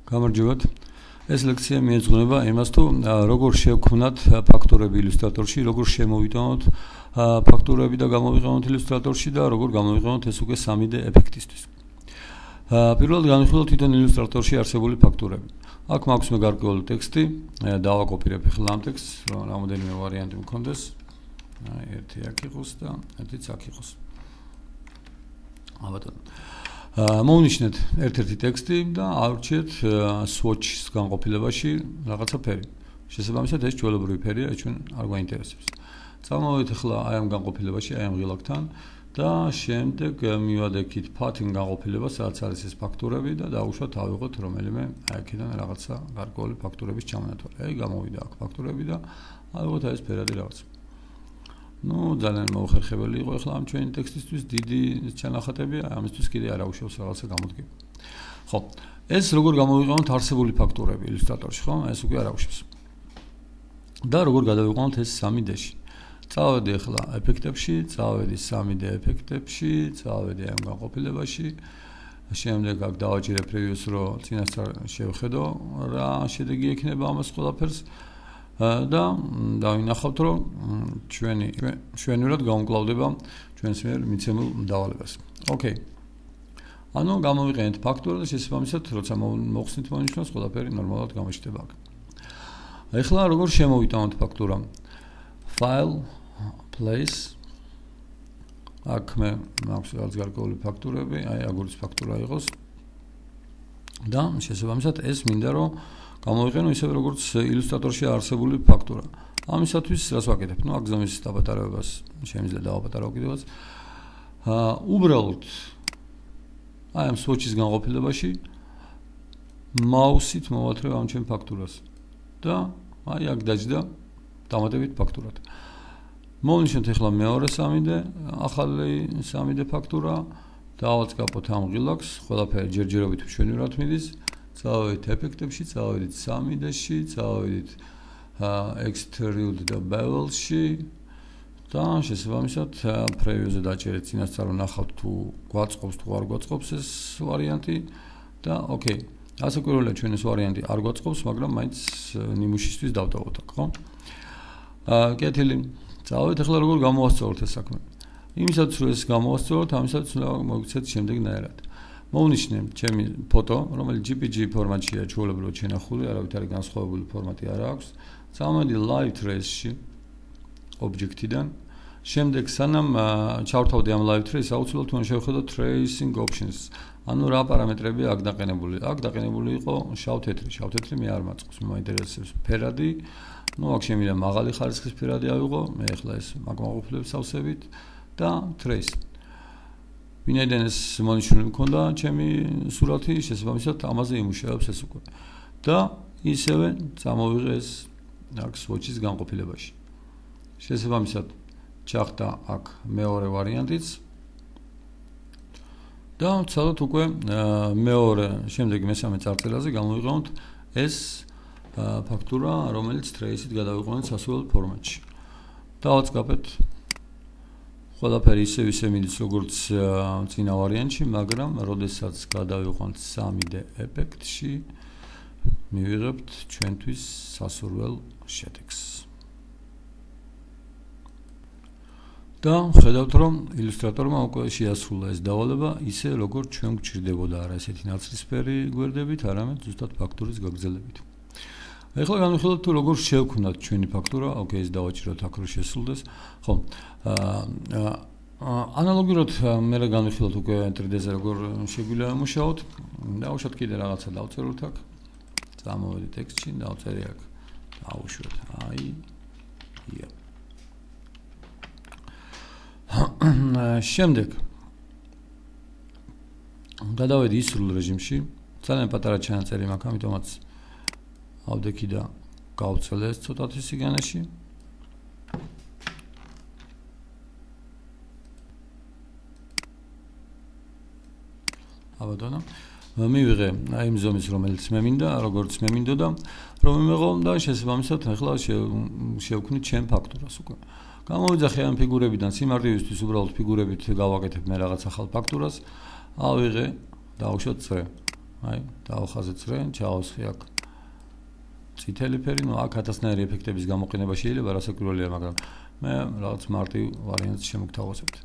გამარჯობათ. ეს ლექცია მიეძღვნება იმას, თუ როგორ შევქმნათ ფაქტორები ილუსტრატორში, როგორ შემოვიტანოთ ფაქტორები და გამოვიყენოთ ილუსტრატორში და როგორ გამოვიყენოთ ეს უკვე 3D ეფექტისთვის. პირველად განვიხილოთ თვითონ ილუსტრატორში არსებული ფაქტორები. აქ მაქვს მე გარკვეული ტექსტი, დავაკოპირებ ახლა ამ ტექსტს, რომ რამოდენიმე ვარიანტი მქონდეს. ერთი აქ იყოს და ერთიც აქ იყოს. აბატონო. მოვნიშნეთ ერთ-ერთი ტექსტი და ავირჩიეთ swatch-ის განყოფილებაში რაღაცა ფერი. შესაბამისად ეს ჩვეულებრივი ფერია, ეს ჩვენ არ გვაინტერესებს. წამოვიდეთ ახლა აი ამ განყოფილებაში, აი ამ ღილაკთან და შემდეგ მივადექით path-ին განყოფილებას, რაც არის ეს ფაქტორები და დავუშვათ ავიღოთ რომელიმე აქედან რაღაცა გარკვეული ფაქტორების ჩამონათვალი. აი გამოვიდა აქ ფაქტორები და ავიღოთ აი ეს ფერადი რაღაც. ძალიან მოუხერხებელი იყო ახლა ამ ჩვენი ტექსტისთვის დიდი ჩანახატები, ამისთვის კიდე არ აუშავს რაღაცა გამოდგება. ხო, ეს როგორ გამოვიყენოთ არსებული ფაქტორები ილუსტრატორში, ხო? ეს უკვე არ აუშავს. და როგორ გადავიყენოთ ეს 3D-ში. წავედი ახლა ეფექტებში, წავედი 3D ეფექტებში, წავედი ამ განყოფილებაში. შემდეგ აქ დავაჭირე previous, რომ წინასწარ შევხედო რა შედეგი ექნება ამას ყველაფერს. და დავინახავთ, რომ ჩვენურად გამკლავდება ჩვენს მიერ მიცემულ დავალებას. ოკეი. ანუ გამოვიყენეთ ფაქტორი და შესაბამისად, როცა მოხსნით მონიშნავს, ყველაფერი ნორმალურად გამოჩნდება აქ. ეხლა როგორ შემოვიტანოთ ფაქტორა? File, place. აქ მე მაქვს რაღაც გარკვეული ფაქტორები, აი აგურის ფაქტორა იყოს. და შესაბამისად ეს მინდა რომ გამოვიყენო ისე როგორც ილუსტრატორში არსებული ფაქტორა. ამისათვის რას ვაკეთებ? აქ გზომის დაპატარებას შემიძლია დავაპატარავ კიდევაც. უბრალოდ აი ამ swatch-ის განყოფილებაში მაუსით მოვათრევ ამ ჩემ ფაქტორას და აი აქ დაჯდა დამატებით ფაქტორად. მოვნიშნოთ ახლა მეორე 3D, ახალი 3D ფაქტორა, დავაწყაპოთ ამ ღილაკს, ყველაფერი ჯერჯერობით მშვენივრად მიდის. წავედით ეფექტებში, წავედით 3D-ში, წავედით extrude და bevel-ში და შესაბამისად preview-ზე დაჭერეთ წინასწარ რომ ნახავთ თუ გვაწყობს თუ არ გვაწყობს ეს ვარიანტი და ოკეი. ასაკურველია ჩვენ ეს ვარიანტი არ გვაწყობს, მაგრამ მაინც ნიმუშისთვის დავტოვოთ აქ, ხო? კეთილი. წავედით ახლა როგორ გამოვასწოროთ ეს საქმე. იმისაც რომ ეს გამოვასწოროთ, ამისაც უნდა მოგიცეთ შემდეგნაირად. მოვნიშნე ჩემი ფოტო, რომელიც JPG ფორმატშია, ჩვეულებრივად შენახული, არავით არის განსხვავებული ფორმატი არ აქვს. წავედი live trace-ში ობიექტიდან. შემდეგ სანამ ჩავრთავდი ამ live trace-ს, აუცილებლად უნდა შევხედო tracing options. ანუ რა პარამეტრები აქ დაყენებული. აქ დაყენებული იყო შავ-თეთრი. შავ-თეთრი მე არ მაწყობს, მე მაინტერესებს ფერადი. აქ შემიძლია მაღალი ხარისხის ფერადი ავიღო. მე ახლა ეს მაგმაყოფილებს ავსებით და trace. ვინაიდან ეს მონიშნული მქონდა ჩემი სურათი, შესაბამისად ამაზე იმუშავებს ეს უკვე. და ისევე წამოვიღე ეს აქ swatch-ის განყოფილებაში. შესაბამისად ჩახდა აქ მეორე ვარიანტიც. და ცალოთ უკვე მეორე, შემდეგ მესამე წარწერაზე გამოვიყენოთ ეს ფაქტორა, რომელიც trace-ით გადავიყვანოთ სასურველ ფორმატში. დავაწყაპეთ ყველაფერი ისე მიდის როგორც წინა ვარიანტში, მაგრამ როდესაც გადავიყვანთ 3D ეფექტში, მივიღებთ ჩვენთვის სასურველ შედეგს. და ხედავთ, რომ ილუსტრატორმა უკვე შეასრულა ეს დავალება, ისე როგორც ჩვენ გვჭირდებოდა, არა ესეთი ნაცრისფერი გვერდებით, არამედ ზუსტად ფაქტორის გაგრძელებით. ეხლა განვიხილოთ თუ როგორ შევქმნათ ჩვენი ფაქტორა, ოკეი, ეს დავაჭიროთ აქ რომ შესრულდეს. ხო. ანალოგიურად მე განვიხილოთ უკვე 3D-ზე როგორ შეგვიძლია ამუშაოთ. დავუშვათ კიდე რაღაცა დავწეროთ აქ. წამოვედი ტექსტში, დავწერე აქ. დავუშვათ. აი. შემდეგ გადავედი ისრულ რეჟიმში. ძალიან პატარა ჩანაწერი მაქვს, ამიტომაც ავდექი და გავწელე ეს ცოტათი სიგანეში. აბატონო, მივიღე აი იმ ზომის, რომელიც მე მინდა, როგორც მე მინდოდა, რომ მივიღო და შესაბამისად ახლა შევქმნით ჩემ ფაქტორას უკვე. გამოვიძახე ამ ფიგურებიდან სიმარტივისთვის უბრალოდ ფიგურებით გავაკეთებ მე რაღაც ახალ ფაქტორას. ავიღე, დავუშვათ წრე. აი, დავხაზეცრენ, ჩავასხი აქ წითელი ფერი, ну, აქ ათასნაირი ეფექტების გამოყენება შეიძლება, რასაკვირველია, მაგრამ მე რაღაც მარტივ ვარიანტს შემოგთავაზებთ.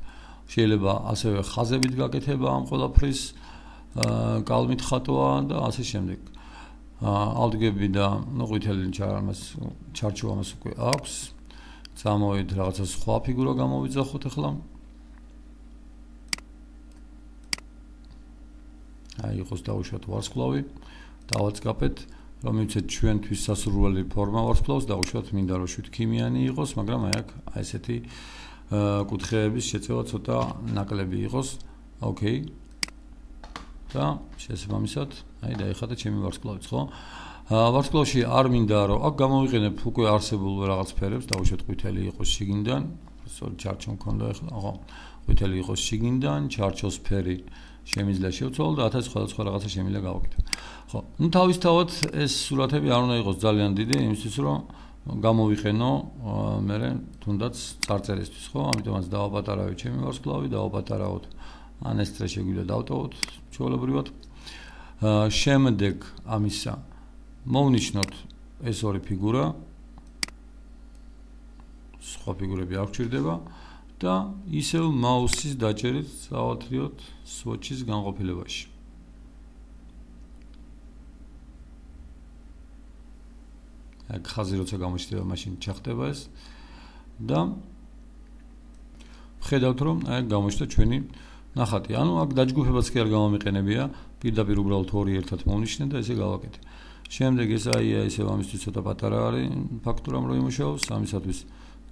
შეიძლება ასევე ხაზებით გაკეთება ამ ყველაფრის, კალმით ხატვა და ასე შემდეგ. ავდგები და ну, ყვითელი ჩარჩო ამას უკვე აქვს. წამოვიდ რაღაცა სხვა ფიგურა გამოვიძახოთ ახლა. აი, იყოს დავუშვათ ვარსკვლავი, დავაწყაპეთ, რომ მივცეთ ჩვენთვის სასურველი ფორმა ვარსკვლავს, დავუშვათ მინდა რომ შვიდქიმიანი იყოს, მაგრამ აი აქ ესეთი კუთხეების შეწევა ცოტა ნაკლები იყოს. ოკეი. და შესაბამისად, აი დაიხატა ჩემი ვარსკვლავიც, ხო? ვარსკვლავში არ მინდა რომ აქ გამოვიყენებ უკვე არსებულ რაღაც ფერებს, დავუშვათ ყვითელი იყოს შიგნიდან, სწორედ ჩარჩო მქონდა ახლა, ხო? ყვითელი იყოს შიგნიდან, ჩარჩოს ფერი შემიძლია შევცვალო და 1000 სხვადასხვა რაღაცა შემიძლია გავაკეთო. ხო, ну თავისთავად ეს სურათები არ უნდა იყოს ძალიან დიდი, იმისთვის რომ გამოვიყენო მე თუნდაც წარწერისთვის, ხო? ამიტომაც დავაპატარავე ჩემი ვარსკვლავი, დავაპატარავოთ ან ეს წრე შეგვიძლია დავტოვოთ ჩვეულებრივად. შემდეგ ამისა მოვნიშნოთ ეს ორი ფიგურა. სხვა ფიგურები არ გვჭირდება. და ისევ მაუსის დაჭერით წავათრიოთ swatch-ის განყოფილებაში. აქ ხაზი როცა გამოჩნდება, მაშინ ჩახდება ეს და ხედავთ რომ აი გამოჩნდა ჩვენი ნახატი. ანუ აქ დაჯგუფებაც კი არ გამომიყენებია, პირდაპირ უბრალოდ ორი ერთად მოვნიშნე და ესე გავაკეთე. შემდეგ ეს აი ისევ ამისთვის ცოტა პატარა არის ფაქტურამ რომ იმუშაოს, ამისათვის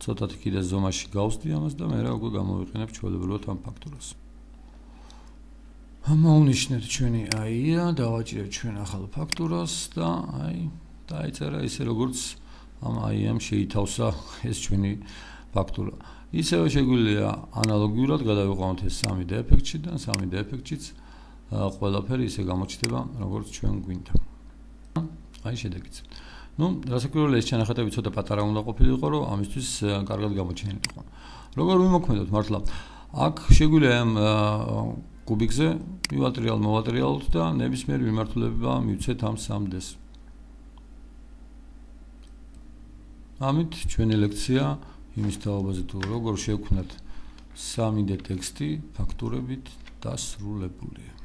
ცოტათი კიდე ზომაში გავსდი ამას და მე რა უკვე გამოვიყენებ ჩვეულებრივად ამ ფაქტურას. მოვნიშნეთ ჩვენი აი-ია, დავაჭირებ ჩვენ ახალ ფაქტურას და აი დაიწერა ისე როგორც ამ აი-ამ შეითავსა ეს ჩვენი ფაქტურა. ისევე შეგვიძლია ანალოგიურად გადავიყვანოთ ეს 3D ეფექტში და 3D ეფექტშიც ყველაფერი ისე გამოჩნდება როგორც ჩვენ გვინდა. აი შედეგიც. ну, რასაკვირველია ეს ჩანახატები ცოტა პატარა უნდა ყოფილიყო, რომ ამისთვის კარგად გამოჩენილიყო. როგორ ვიმოქმედოთ მართლა? აქ შეგვიძლია ამ კუბიკზე მოვატრიალოთ და ნებისმიერი მიმართულება მივცეთ ამ 3D-ს. ამით ჩვენი ლექცია იმის თაობაზე თუ როგორ შევქმნათ 3D ტექსტი ფაქტურებით დასრულებულია.